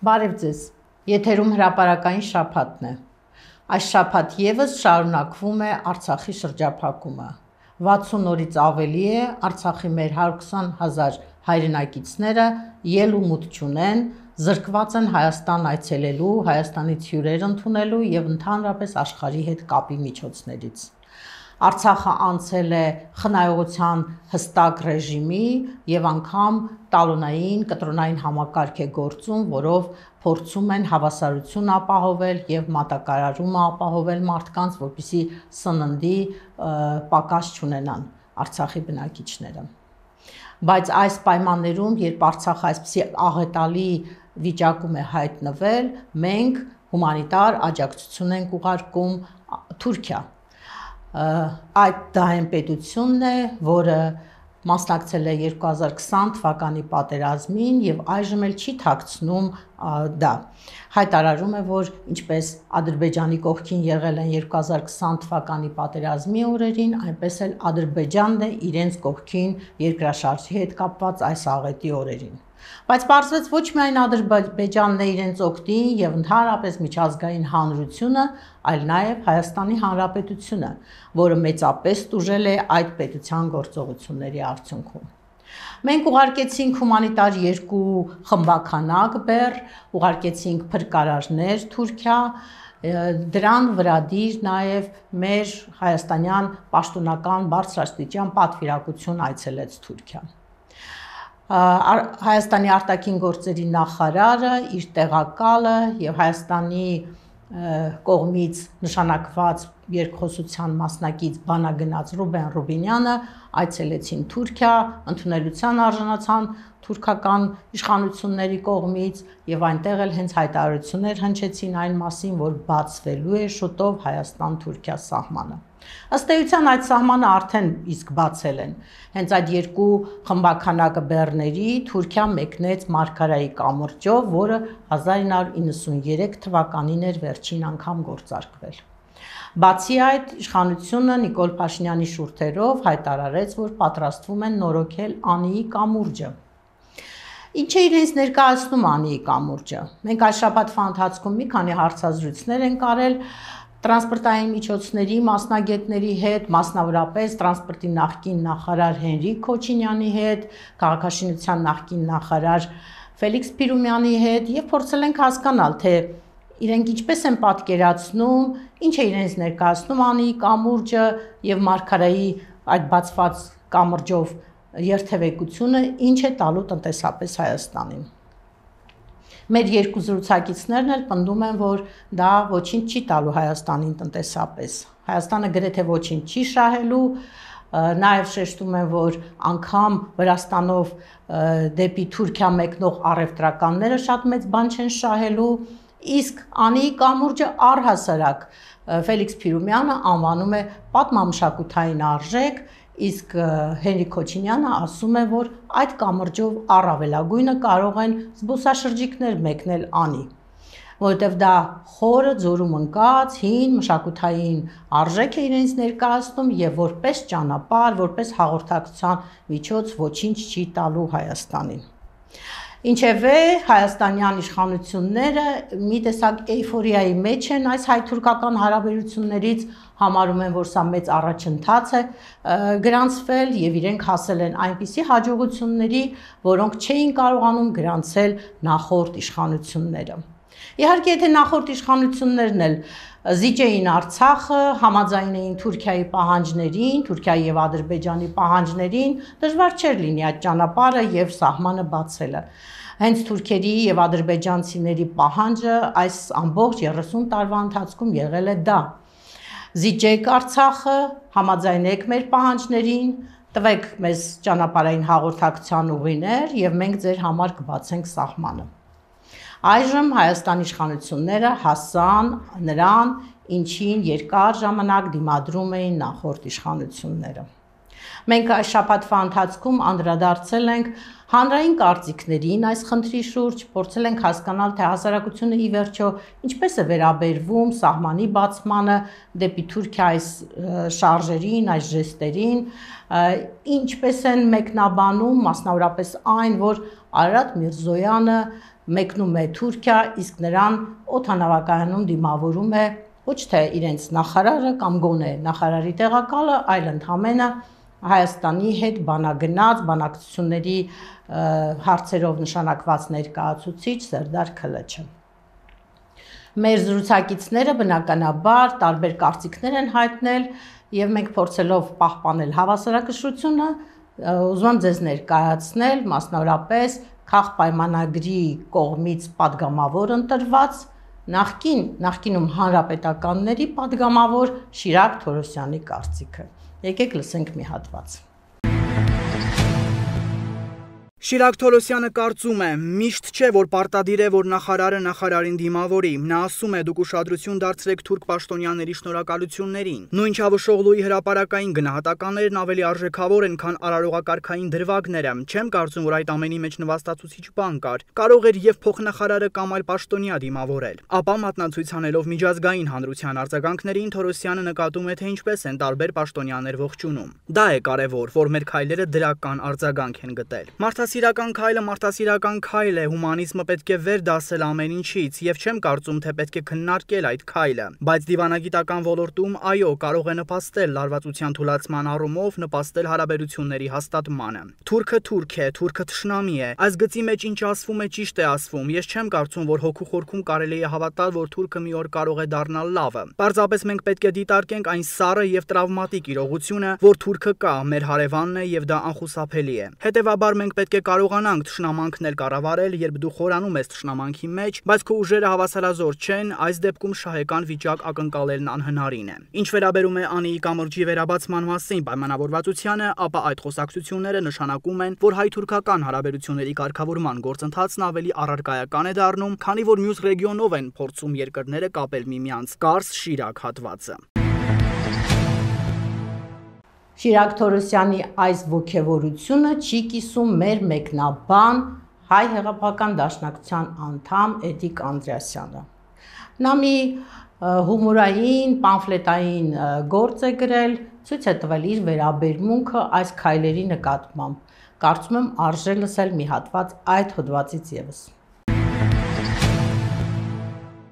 Բարև ձեզ, եթերում հրապարակային շաբաթն է։ Այս շաբաթ ևս շարունակվում է Արցախի շրջափակումը։ 60 օրից ավելի է Արցախի մեր 120,000 հայրենակիցները ել ու մուտք չունեն, զրկված են Հայաստան այցելելու, Հայաստանից հյուրեր ընդունելու եւ ընդհանրապես աշխարհի հետ կապի միջոցներից։ Արցախը անցել է խնայողության հստակ ռեժիմի եւ անգամ տալոնային, կտրոնային համակարգ է գործում, որով փորձում են հավասարություն ապահովել եւ մատակարարումը ապահովել մարդկանց, որպեսզի սննդի պակաս չունենան Արցախի բնակիչները։ Բայց այս պայմաններում, երբ Արցախը այսպիսի աղետալի վիճակում է հայտնվել, մենք հումանիտար աջակցություն ենք ուղարկում Թուրքիա։ Այդ դահին պետությունն է, որը մասնակցել է 2020 թվականի պատերազմին եւ այժմ էլ չի թաքցնում դա։ Հայտարարում է, որ ինչպես Ադրբեջանի կողքին եղել են 2020 թվականի պատերազմի օրերին, այնպես էլ Ադրբեջանն է իրենց կողքին երկրաշարժի հետ կապված այս աղետի օրերին։ Բայց պարզվեց ոչ միայն Ադրբեջանն է իրենց օգտին եւ ընդհանրապես միջազգային հանրությունը, այլ նաեւ Հայաստանի Հանրապետությունը, որը մեծապես տուժել է այդ պետության գործողությունների արդյունքում։ Մենք ուղարկեցինք հումանիտար 2 խմբականակ բեռ, ուղարկեցինք փրկարարներ Թուրքիա, դրան վրադիր նաեւ մեր հայաստանյան պաշտոնական բարձրաստիճան պատվիրակություն այցելեց Թուրքիա։ Հայաստանի արտաքին գործերի նախարարը, իր տեղակալը եւ Հայաստանի կողմից նշանակված երկխոսության մասնակից բանագնաց Ռուբեն Ռուբինյանը այցելեցին Թուրքիա, ընդունելության արժանացան թուրքական իշխանությունների կողմից եւ այնտեղ էլ հենց հայտարարություններ հնչեցին այն մասին, որ բացվելու է շուտով Հայաստան-Թուրքիա սահմանը։ Ըստ էության այդ սահմանը արդեն իսկ բացել են։ Հենց այդ 2 խմբականակ բեռների Թուրքիա մեկնեց Մարգարայի կամուրջով, որը 1993 թվականին էր վերջին անգամ գործարկվել։ Բացի այդ, իշխանությունը Նիկոլ Փաշինյանի շուրթերով հայտարարեց, որ պատրաստվում են նորոգել Անիի կամուրջը։ Ինչ է իրենց ներկայացնում Անիի կամուրջը։ Մենք այս շաբաթվա ընթացքում մի քանի հարցազրույցներ ենք արել տրանսպորտային միջոցների մասնագետների հետ, մասնավորապես տրանսպորտի նախկին նախարար Հենրիկ Քոչինյանի հետ, քաղաքաշինության նախկին նախարար Ֆելիքս Փիրումյանի հետ եւ փորձել ենք հասկանալ, թե իրենք ինչպես են պատկերացնում, ինչ է իրենց ներկայացնում Անիի կամուրջը եւ Մարգարայի այդ բացված կամուրջով երթևեկությունը ինչ է տալու տնտեսապես Հայաստանին։ Մեր 2 զրուցակիցներն էլ պնդում են, որ դա ոչինչ չի տալու Հայաստանին տնտեսապես։ Հայաստանը գրեթե ոչինչ չի շահելու, նաև շեշտում են, որ անգամ Վրաստանով դեպի Թուրքիա մեկնող առևտրականները շատ մեծ բան չեն շահելու, իսկ Անիի կամուրջը առհասարակ Ֆելիքս Փիրումյանը անվանում է պատմամշակութային արժեք, իսկ Հենրիկ Քոչինյանը ասում է, որ այդ կամուրջով առավելագույնը կարող են զբոսաշրջիկներ մեկնել Անի, որովհետև դա խորը ձորում ընկած, հին մշակութային արժեք է իրենց ներկայացնում եւ որպես ճանապարհ, որպես հաղորդակցության միջոց ոչինչ չի տալու Հայաստանին։ Ինչևէ, հայաստանյան իշխանությունները մի տեսակ էյֆորիայի մեջ են այս հայ-թուրքական հարաբերություններից, համարում են, որ սա մեծ առաջընթաց է գրանցվել եւ իրենք հասել են այնպիսի հաջողությունների, որոնք չէին կարողանում գրանցել նախորդ իշխանությունները։ Իհարկե, եթե նախորդ իշխանություններն էլ զիջեին Արցախը, համաձայն էին Թուրքիայի պահանջներին, Թուրքիայի եւ Ադրբեջանի պահանջներին, դժվար չէր լինի այդ ճանապարհը եւ սահմանը բացելը։ Հենց թուրքերի եւ ադրբեջանցիների պահանջը այս ամբողջ 30 տարվա ընթացքում եղել է դա։ Զիջեք Արցախը, համաձայնեք մեր պահանջներին, տվեք մեզ ճանապարհային հաղորդակցության ուղիներ եւ մենք ձեր համար կբացենք սահմանը։ Այժմ Հայաստանի իշխանությունները հասան նրան, ինչին երկար ժամանակ դիմադրում էին նախորդ իշխանությունները։ Մենք այս շաբաթվա ընթացքում անդրադարձել ենք հանրային կարծիքներին այս խնդրի շուրջ, փորձել ենք հասկանալ, թե հասարակությունը ի վերջո ինչպես է վերաբերվում սահմանի բացմանը դեպի Թուրքիա այս շարժերին, այս ժեստերին, ինչպես են մեկնաբանում, մասնավորապես այն, որ Արարատ Միրզոյանը մեկնում է Թուրքիա, իսկ նրան օդանավակայանում դիմավորում է ոչ թե իրենց նախարարը կամ գոնե նախարարի տեղակալը, այլ ընդհանրապես Հայաստանի հետ բանագնաց, բանակցությունների հարցերով նշանակված ներկայացուցիչ Սերդար Քլիչը։ Մեր զրուցակիցները բնականաբար տարբեր կարծիքներ են հայտնել եւ մենք փորձելով պահպանել հավասարակշռությունը, ուզում եմ ձեզ ներկայացնել մասնավորապես քաղաքապայմանագրի կողմից падգամավոր ընտրված նախկինում հանրապետականների падգամավոր Շիրակ Թորոսյանի կարծիքը։ Եկեք լսենք մի հատված։ Շիրակ Թորոսյանը կարծում է, միշտ չէ, որ պարտադիր է, որ նախարարը նախարարին դիմավորի։ Նա ասում է, դուք ուշադրություն դարձրեք թուրք պաշտոնյաների շնորհակալություններին։ Նույն Չավուշօղլուի հրապարակային գնահատականներն ավելի արժեքավոր են, քան արարողակարգային դրվագները։ Չեմ կարծում, որ այդ ամենի մեջ նվաստացուցիչ բան կար։ Կարող էր եւ փոխնախարարը կամ այլ պաշտոնյա դիմավորել։ Ապա մատնացույց անելով միջազգային հանրության արձագանքներին, Թորոսյանը նկատում է, թե ինչպես են տարբեր պաշտոնյաներ ողջունում։ Դա է կարևոր, որ մեր քայլերը դրական արձագանք են գտել։ Մարդասիրական քայլ է, հումանիզմը պետք է վեր դասել ամեն ինչից եւ չեմ կարծում, թե պետք է քննարկել այդ քայլը, բայց դիվանագիտական ոլորտում այո, կարող է նպաստել լարվածության թուլացման առումով, նպաստել հարաբերությունների հաստատմանը։ Թուրքը թուրք է, թուրքը թշնամի է։ Այս գծի մեջ ինչ ասվում է ճիշտ է ասվում։ Ես չեմ կարծում, որ հոգու խորքում կարելի է հավատալ, որ թուրքը մի օր կարող է դառնալ լավը։ Պարզապես մենք պետք է դիտարկենք այն սառը եւ տրավմատիկ իրողությունը, որ թուրքը կա, մեր հարևանն է եւ դա անխուսափելի է։ Հետևաբար մենք պետք է կարողանանք թշնամանքն էլ կառավարել, երբ դու խորանում ես թշնամանքի մեջ, բայց քո ուժերը հավասարազոր չեն, այս դեպքում շահեկան վիճակ ակնկալելն անհնարին է։ Ինչ վերաբերում է Անիի կամրջի վերաբացման մասին պայմանավորվածությանը, ապա այդ խոսակցությունները նշանակում են, որ հայ-թուրքական հարաբերությունների կարգավորման գործընթացն ավելի առարկայական է դառնում, քանի որ մյուս ռեգիոնով են փորձում երկրները կապել միմյանց։ Կարս Շիրակ հատվածը։ Շիրակ Թորոսյանի այս ոգևորությունը չի կիսում մեր մեկնաբան Հայ հեղափոխական դաշնակցության անդամ Էդիկ Անդրեասյանը։ Նա մի հումորային, պամֆլետային գործ է գրել, ցույց է տվել իր վերաբերմունքը այս քայլերի նկատմամբ։ Կարծում եմ արժե լսել մի հատված այդ հոդվածից եւս։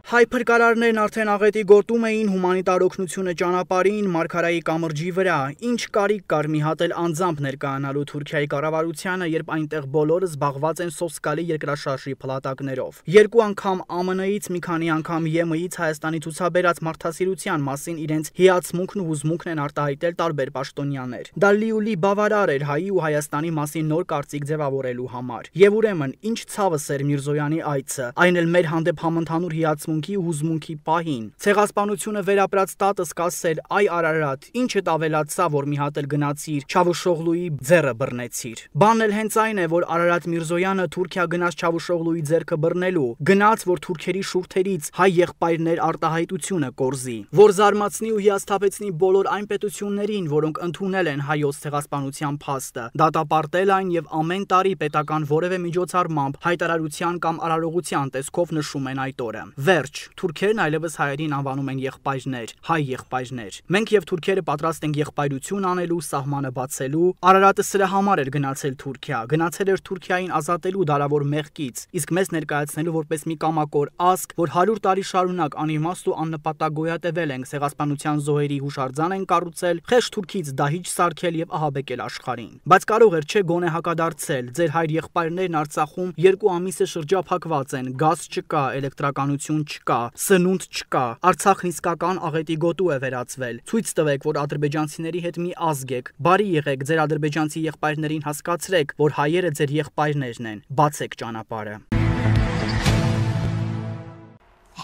Հայ փրկարարներն արդեն աղետի գոտում էին հումանիտար օգնությունը ճանապարհին Մարգարայի կամրջի վրա։ Ինչ կարիք կար մի հատ էլ անձամբ ներկայանալու Թուրքիայի կառավարությանը, երբ այնտեղ բոլորը զբաղված են սոսկալի երկրաշարժի փլատակներով։ Երկու անգամ ԱՄՆ-ից, մի քանի անգամ ԵՄ-ից Հայաստանի ցուցաբերած մարդասիրության մասին իրենց հիացմունքն ու հուզմունքն են արտահայտել տարբեր պաշտոնյաներ։ Դա լիուլի բավարար էր հայի ու Հայաստանի մասին նոր կարծիք ձևավորելու համար։ Եվ ուրեմն, ինչ ցավս էր Միրզոյանի այցը, այն էլ մեր հանդեպ համընդհանուր հիացմունքի ու հուզմունքի պահին։ Ցեղասպանությունը վերապրած տատս կասել, այ Արարատ, ինչդ ավելացա, որ մի հատ էլ գնացիր Չավուշօղլուի ձեռը բռնեցիր։ Բանն էլ հենց այն է, որ Արարատ Միրզոյանը Թուրքիա գնաց Չավուշօղլուի ձեռքը բռնելու, գնաց, որ թուրքերի շուրթերից հայ եղբայրներ արտահայտությունը կորզի, որ զարմացնի ու հիասթափեցնի բոլոր այն պետություններին, որոնք ընդունել են հայոց ցեղասպանության փաստը, դատապարտել այն եւ ամեն տարի պետական որևէ միջոցառմամբ հայտարարության կամ արարողության տեսքով նշում են այդ օրը։ Վերջ, թուրքերն այլևս հայերին անվանում են եղբայրներ, հայ եղբայրներ։ Մենք եւ թուրքերը պատրաստ ենք եղբայրություն անելու, սահմանը բացելու։ Արարատը սրա համար էր գնացել Թուրքիա, գնացել էր Թուրքիային ազատելու դարավոր մեղքից, իսկ մեզ ներկայացնելու որպես մի կամակոր ազգ, որ 100 տարի շարունակ անիմաստ ու աննպատակ գոյատևել ենք, ցեղասպանության զոհերի հուշարձան են կառուցել, խեղճ թուրքից դահիճ սարքել եւ ահաբեկել աշխարհին։ Բայց կարող էր չէ գոնե հակադարձել, ձեր հայր եղբայրներն Արցախում 2 ամիս է շրջափակված են, գազ չկա, էլեկտրականություն չկա, սնունդ չկա, Արցախն իսկական աղետի գոտու է վերածվել։ Ցույց տվեք, որ ադրբեջանցիների հետ մի ազգ եք, բարի եղեք, ձեր ադրբեջանցի եղբայրներին հասկացրեք, որ հայերը ձեր եղբայրներն են, բացեք ճանապարհը։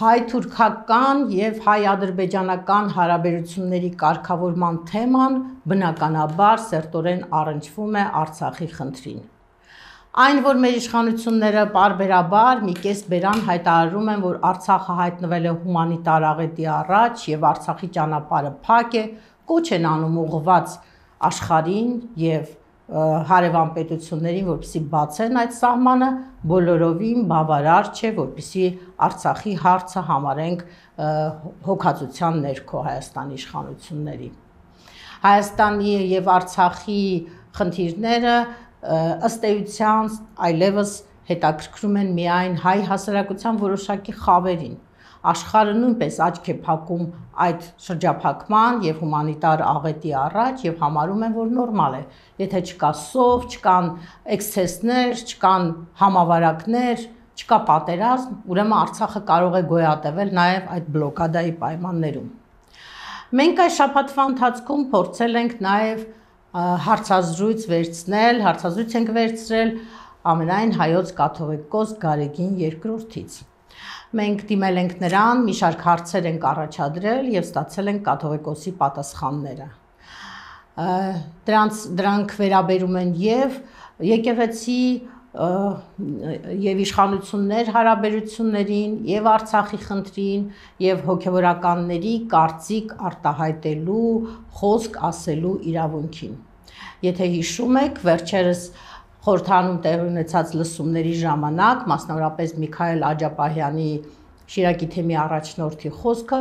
Հայ-թուրքական եւ հայ-ադրբեջանական հարաբերությունների կարգավորման թեման բնականաբար սերտորեն առնչվում է Արցախի խնդրին։ Այն, որ մեր իշխանությունները պարբերաբար մի կես բերան հայտարարում են, որ Արցախը հայտնվել է հումանիտար աղետի առաջ եւ Արցախի ճանապարհը փակ է, կոչ են անում ուղղված աշխարհին եւ հարևան պետություններին, որպեսզի բացեն այդ սահմանը, բոլորովին բավարար չէ, որպեսզի Արցախի հարցը համարենք հոգացության ներքո Հայաստանի իշխանությունների։ Հայաստանի եւ Արցախի խնդիրները ըստ էության այլևս հետաքրքրում են միայն հայ հասարակության որոշակի խավերին։ Աշխարհը նույնպես աչք է փակում այդ շրջափակման եւ հումանիտար աղետի առաջ եւ համարում են, որ նորմալ է։ Եթե չկա սով, չկան էքսցեսներ, չկան համավարակներ, չկա պատերազմ, ուրեմն Արցախը կարող է գոյատևել նաեւ այդ բլոկադայի պայմաններում։ Մենք այս շաբաթվա ընթացքում փորձել ենք նաեւ հարցազրույց ենք վերցրել ամենայն հայոց կաթողիկոս Գարեգին II-ից։ Մենք դիմել ենք նրան, մի շարք հարցեր ենք առաջադրել եւ ստացել ենք կաթողիկոսի պատասխանները։ Դրանք վերաբերում են եւ եկեղեցի եւ իշխանություններ հարաբերություններին, եւ Արցախի խնդրին, եւ հոգեվորականների կարծիք արտահայտելու, խոսք ասելու իրավունքին։ Եթե հիշում եք, վերջերս խորհրդարանում տեղի ունեցած լսումների ժամանակ, մասնավորապես Միքայել Աջապահյանի Շիրակի թեմի առաջնորդի խոսքը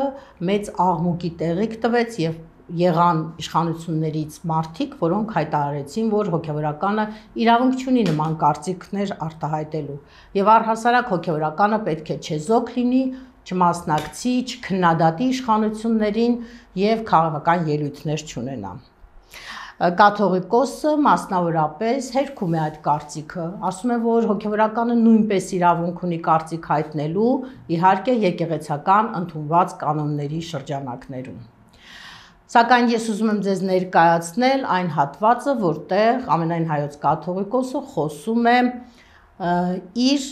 մեծ աղմուկի տեղիք տվեց եւ եղան իշխանություններից մարդիկ, որոնք հայտարարեցին, որ հոգեվորականը իրավունք չունի նման կարծիքներ արտահայտելու եւ առհասարակ հոգեվորականը պետք է չեզոք լինի, չմասնակցի, չքննադատի իշխանություններին եւ քաղաքական ելույթներ չունենա։ Կաթողիկոսը մասնավորապես հերքում է այդ կարծիքը, ասում է, որ հոգեվորականը նույնպես իրավունք ունի կարծիք հայտնելու, իհարկե եկեղեցական ընդունված կանոնների շրջանակներում։ Սակայն ես ուզում եմ ձեզ ներկայացնել այն հատվածը, որտեղ ամենայն հայոց կաթողիկոսը խոսում է իր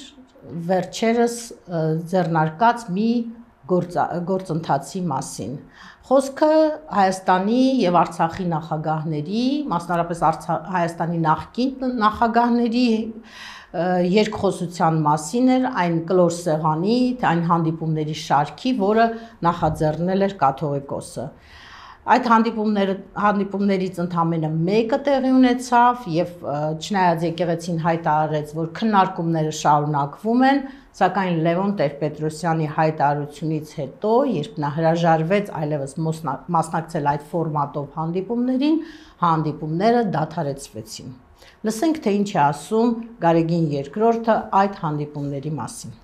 վերջերս ձեռնարկած մի գործընթացի մասին։ Խոսքը Հայաստանի եւ Արցախի նախագահների, մասնավորապես Հայաստանի նախկին նախագահների երկխոսության մասին էր, այն կլոր սեղանի, այն հանդիպումների շարքի, որը նախաձեռնել էր կաթողիկոսը։ Այդ հանդիպումներից ընդամենը մեկը տեղի ունեցավ եւ չնայած եկեղեցին հայտարարեց, որ քննարկումները շարունակվում են, սակայն Լևոն Տեր-Պետրոսյանի հայտարարությունից հետո, երբ նա հրաժարվեց այլևս մասնակցել այդ ֆորմատով հանդիպումներին, հանդիպումները դադարեցվեցին։ Լսենք, թե ինչ է ասում Գարեգին II այդ հանդիպումների մասին։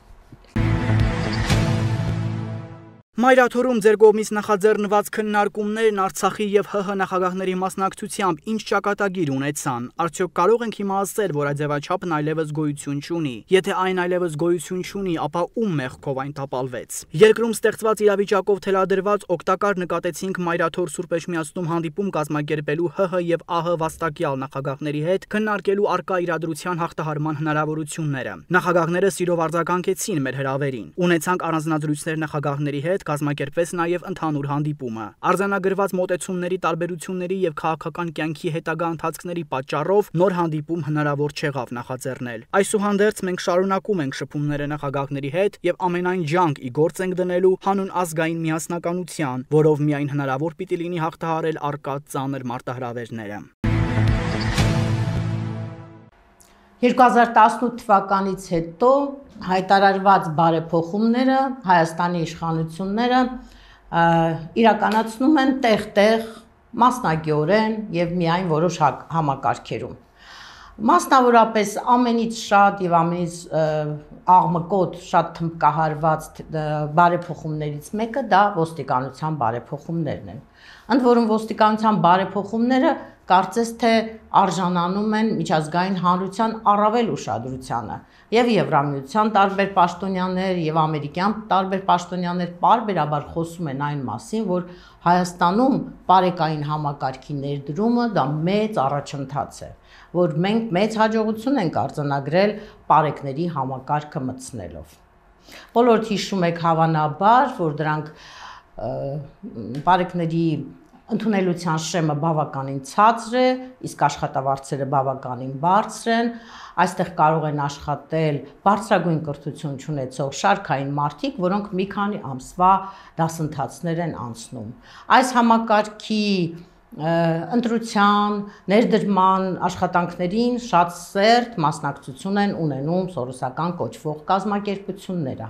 Մայրաթորում ձեր կողմից նախաձեռնված քննարկումներն Արցախի եւ ՀՀ նախագահների մասնակցությամբ ինչ ճակատագիր ունեցան։ Արդյոք կարող ենք հիմա ասել, որ այդ ձևաչափն այլևս գոյություն չունի։ Եթե այն այլևս գոյություն չունի, ապա ում մեղքով այն տապալվեց։ Երկրում ստեղծված իրավիճակով թելադրված օգտակար նկատեցինք Մայրաթոր Սուրբ Էջմիածնում հանդիպում կազմակերպելու ՀՀ եւ ԱՀ վաստակյալ նախագահների հետ քննարկելու արկա իրադրության հաղթահարման հնարավորությունները։ Նախագահները սիրով արձագանքեցին մեր հրավերին։ Ունեցանք առանձնազրույցներ նախագահների հետ, կազմակերպվեց նաև ընդհանուր հանդիպումը։ Արձանագրված մոտեցումների տարբերությունների եւ քաղաքական կյանքի հետագա ընթացքների պատճառով նոր հանդիպում հնարավոր չեղավ նախաձեռնել։ Այսուհանդերձ մենք շարունակում ենք շփումները նախագահների հետ եւ ամենայն ջանք ի գործ ենք դնելու հանուն ազգային միասնականության, որով միայն հնարավոր պիտի լինի հաղթահարել արկա ծանր մարտահրավերները։ 2018 թվականից հետո հայտարարված բարեփոխումները Հայաստանի իշխանությունները իրականացնում են տեղ-տեղ մասնակիորեն եւ միայն որոշ համակարգերում։ Մասնավորապես ամենից շատ եւ ամենից աղմկոտ, շատ թմբկահարված բարեփոխումներից մեկը դա ոստիկանության բարեփոխումներն են։ Ընդ որում ոստիկանության բարեփոխումները կարծես թե արժանանում են միջազգային հանրության առավել ուշադրությանը եւ Եվրամիության տարբեր պաշտոնյաներ եւ ամերիկյան տարբեր պաշտոնյաներ պարբերաբար խոսում են այն մասին, որ Հայաստանում պարեկային համակարգի ներդրումը դա մեծ առաջընթաց է, որ մենք մեծ հաջողություն ենք արձանագրել պարեկների համակարգը մտցնելով։ Բոլորդ հիշում եք հավանաբար, որ դրանք պարեկների ընդունելության շեմը բավականին ցածր է, իսկ աշխատավարձերը բավականին բարձր են, այստեղ կարող են աշխատել բարձրագույն կրթություն ունեցող շարքային մարդիկ, որոնք մի քանի ամսվա դասընթացներ են անցնում։ Այս համակարգի ընտրության, ներդրման աշխատանքներին շատ սերտ մասնակցություն են ունենում սորոսական կոչվող կազմակերպությունները,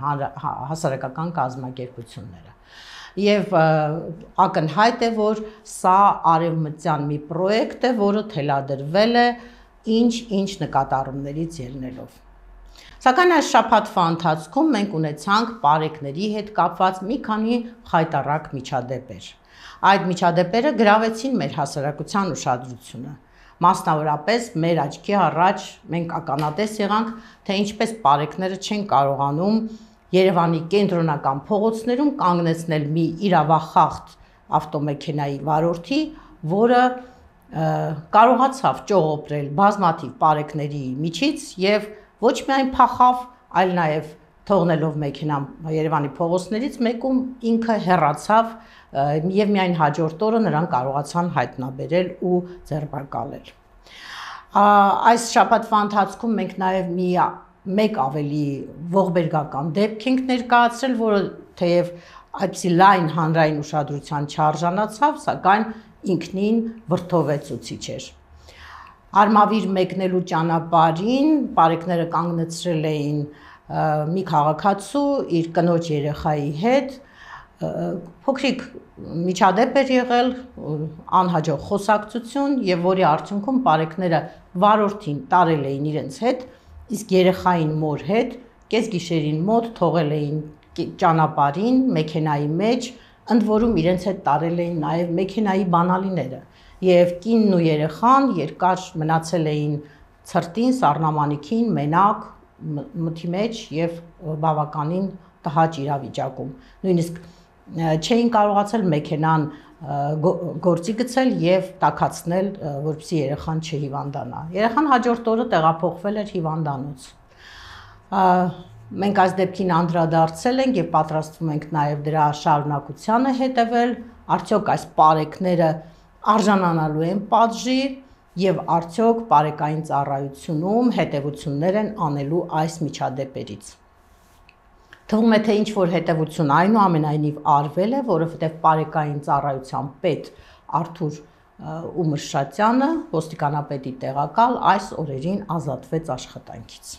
հասարակական կազմակերպությունները։ Եվ ակնհայտ է, որ սա արևմտյան մի պրոյեկտ է, որը թելադրվել է ինչ նկատառումներից ելնելով։ Սակայն այս շաբաթվա ընթացքում մենք ունեցանք պարեկների հետ կապված մի քանի խայտառակ միջադեպեր։ Այդ միջադեպերը գրավեցին մեր հասարակության ուշադրությունը։ Մասնավորապես մեր աչքի առաջ մենք ականատես եղանք, թե ինչպես պարեկները չեն կարողանում Երևանի կենտրոնական փողոցներում կանգնեցնել մի իրավախախտ ավտոմեքենայի վարորդի, որը կարողացավ ճողոպրել բազմաթիվ պարեկների միջից եւ ոչ միայն փախավ, այլ նաև թողնելով մեքենան Երևանի փողոցներից մեկում ինքը հեռացավ եւ միայն հաջորդ օրը նրան կարողացան հայտնաբերել ու ձերբակալել։ Այս շաբաթվա ընթացքում մենք նաև մեկ ավելի ողբերգական դեպք ենք ներկայացրել, որը թեև այդպիսի լայն հանրային ուշադրության չարժանացավ, սակայն ինքնին վրդովեցուցիչ էր։ Արմավիր մեկնելու ճանապարհին պարեկները կանգնեցրել էին մի քաղաքացու իր կնոջ երեխայի հետ, փոքրիկ միջադեպ էր եղել, անհաջող խոսակցություն եւ որի արդյունքում պարեկները վարորդին տարել էին իրենց հետ, իսկ երեխային մոր հետ կեսգիշերին մոտ թողել էին ճանապարհին մեքենայի մեջ, ընդ որում իրենց հետ տարել էին նաեւ մեքենայի բանալիները։ Եվ կինն ու երեխան երկար մնացել էին ցրտին, սառնամանիքին, մենակ, մթի մեջ եւ բավականին տհաճ իրավիճակում։ Նույնիսկ չէին կարողացել մեքենան գործի գցել եւ տաքացնել, որպեսզի երեխան չհիվանդանա։ Երեխան հաջորդ օրը տեղափոխվել էր հիվանդանոց։ Մենք այս դեպքին անդրադարձել ենք եւ պատրաստվում ենք նաեւ դրա շարունակությանը հետեւել, արդյոք այս պարեկները արժանանալու են պատժի եւ արդյոք պարեկային ծառայությունում հետեւություններ են անելու այս միջադեպերից։ Թվում է, թե ինչ որ հետեւություն այնուամենայնիվ արվել է, որովհետեւ պարեկային ծառայության պետ Արթուր Ումրշատյանը, ոստիկանապետի տեղակալ, այս օրերին ազատվեց աշխատանքից։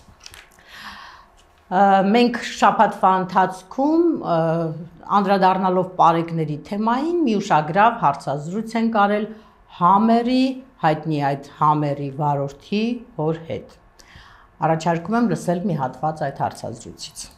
Մենք շաբաթվա ընթացքում անդրադառնալով պարեկների թեմային մի ուշագրավ հարցազրույց ենք արել Համերի, հայտնի այդ Համերի վարորդի հոր հետ։ Առաջարկում եմ լսել մի հատված այդ հարցազրույցից։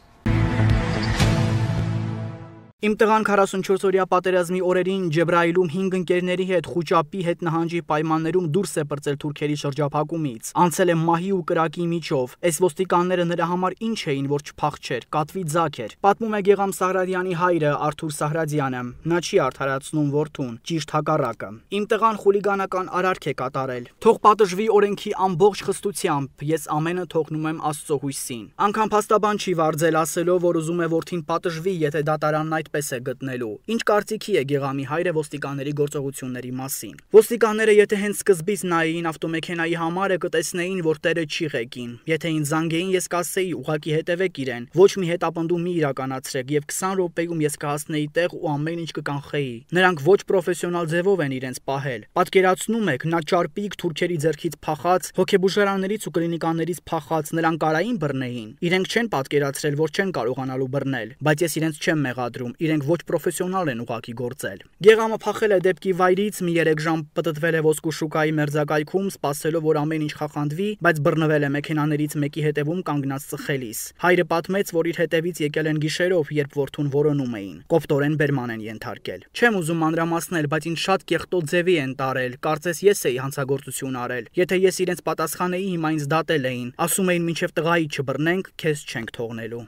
Իմ տղան 44-օրյա պատերազմի օրերին Ջեբրայիլում 5 ընկերների հետ խուճապի հետ նահանջի պայմաններում դուրս է պրծել Թուրքերի շրջափակումից։ Անցել է մահի ու կրակի միջով։ Այս ոստիկանները նրա համար ինչ էին, որ չփախչեր, կատվի ձագ էր։ Պատմում է Գեգամ Սահրադյանի հայրը Արթուր Սահրադյանը։ Նա չի արդարացնում որդուն, ճիշտ հակառակը։ Իմ տղան խուլիգանական արարք է կատարել։ Թող պատժվի օրենքի ամբողջ խստությամբ, ես ամենը թողնում եմ Աստծո հույսին։ Անկամ փաստաբան չի վարձել ասելով, որ ուզում է որդին պատժվի, եթե դատարանն այդպես է գտնելու։ Ինչ կարծիքի է Գեգամի հայրը ոստիկանների գործողությունների մասին։ Ոստիկանները եթե հենց սկզբից նայեին ավտոմեքենայի համարը, կտեսնեին, որ տերը չի ղեկին։ Եթե ինձ զանգեին, ես կասեի ուղակի հետևեք իրեն, ոչ մի հետապնդում մի իրականացրեք եւ 20 րոպեում ես կհասնեի տեղ ու ամեն ինչ կկանխեի։ Նրանք ոչ պրոֆեսիոնալ ձևով են իրենց պահել։ Պատկերացնում եք, նա ճարպիկ թուրքերի ձեռքից փախած, հոգեբուժարաններից ու կլինիկաներից փախած, նրան կարային բռնեին։ Իրենք չեն պատկերացրել, որ չեն կարողանալու բռնել, բայց ես իրենց չեմ մեղադրում, իրենք ոչ պրոֆեսիոնալ են ուղակի գործել։ Գեգամը փախել է դեպքի վայրից, մի 3 ժամ պտտվել է ոսկու շուկայի մերձակայքում, սպասելով, որ ամեն ինչ խախանդվի, բայց բռնվել է մեքենաներից մեկի հետևում կանգնած ծխելիս։ Հայրը պատմեց, որ իր հետևից եկել են գիշերով, երբ որդուն որոնում էին։ Կոպտորեն բերման են ենթարկել։ Չեմ ուզում մանրամասնել, բայց ինձ շատ կեղտոտ ձևի են տարել, կարծես ես էի հանցագործություն արել։ Եթե ես իրենց պատասխանեի, հիմա ինձ դատել էին։ Ասում էին, մինչև տղայի չբռնենք, քեզ չենք թողնելու։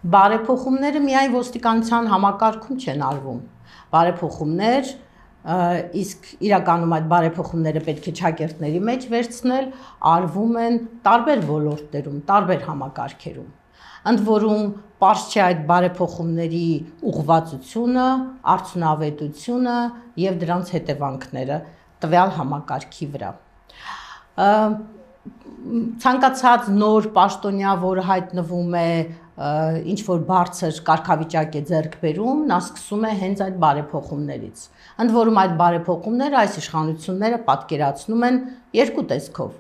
Բարեփոխումները միայն ոստիկանության համակարգում չեն արվում։ Բարեփոխումներ, իսկ իրականում այդ բարեփոխումները պետք է ճակերտների մեջ վերցնել, արվում են տարբեր ոլորտներում, տարբեր համակարգերում։ Ընդ որում, պարզ չէ այդ բարեփոխումների ուղղվածությունը, արդյունավետությունը եւ դրանց հետևանքները տվյալ համակարգի վրա։ Ցանկացած նոր պաշտոնյա, որը հայտնվում է ինչ որ բարձր կարգավիճակ է ձեռք բերում, նա սկսում է հենց այդ բարեփոխումներից։ Ընդ որում այդ բարեփոխումները այս իշխանությունները պատկերացնում են երկու տեսքով՝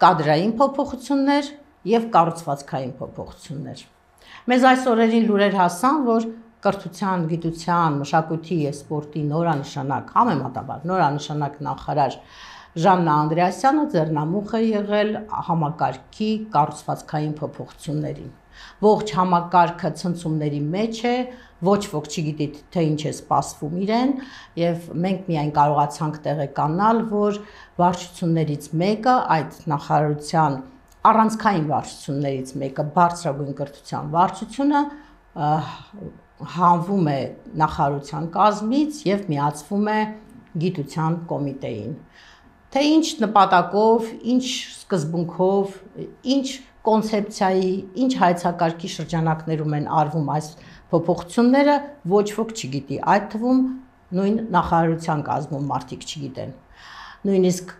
կադրային փոփոխություններ եւ կառուցվածքային փոփոխություններ։ Մեզ այս օրերին լուրեր հասան, որ կրթության, գիտության, մշակույթի եւ սպորտի նորանշանակ, համեմատաբար նորանշանակ նախարար Ժաննա Անդրեասյանը ձեռնամուխ է եղել համակարգի կառուցվածքային փոփոխություններին։ Ողջ համակարգը ցնցումների մեջ է, ոչ ոք չգիտի թե ինչ է սպասվում իրեն, եւ մենք միայն կարողացանք տեղեկանալ, որ վարչություններից մեկը, այդ նախարարության առանցքային վարչություններից մեկը, բարձրագույն կրթության վարչությունը, հանվում է նախարարության կազմից եւ միացվում է գիտության կոմիտեին։ Թե ինչ նպատակով, ինչ սկզբունքով, ինչ կոնցեպցիայի, ինչ հայեցակարգի շրջանակներում են արվում այս փոփոխությունները, ոչ ոք չգիտի, այդ թվում նույն նախարարության կազմում մարդիկ չգիտեն։ Նույնիսկ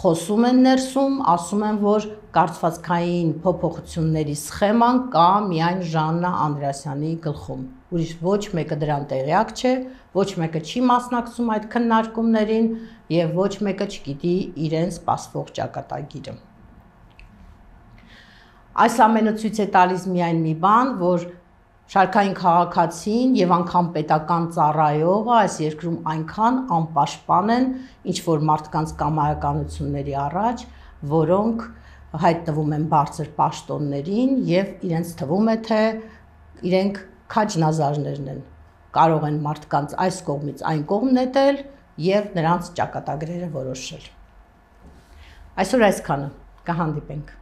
խոսում են ներսում, ասում են, որ կառուցվածքային փոփոխությունների սխեման կա միայն Ժաննա Անդրեասյանի գլխում։ Ուրիշ ոչ մեկը դրան տեղյակ չէ, ոչ մեկը չի մասնակցում այդ քննարկումներին եւ ոչ մեկը չգիտի իրեն սպասվող ճակատագիրը։ Այս ամենը ցույց է տալիս միայն մի բան, որ շարքային քաղաքացին եւ անգամ պետական ծառայողը այս երկրում այնքան անպաշտպան են, ինչ որ մարդկանց կամայականությունների առաջ, որոնք հայտնվում են բարձր պաշտոններին եւ իրենց թվում է, թե իրենք քաջնազարներն են, կարող են մարդկանց այս կողմից այն կողմ նետել եւ նրանց ճակատագրերը որոշել։ Այսօր այսքանը, կհանդիպենք։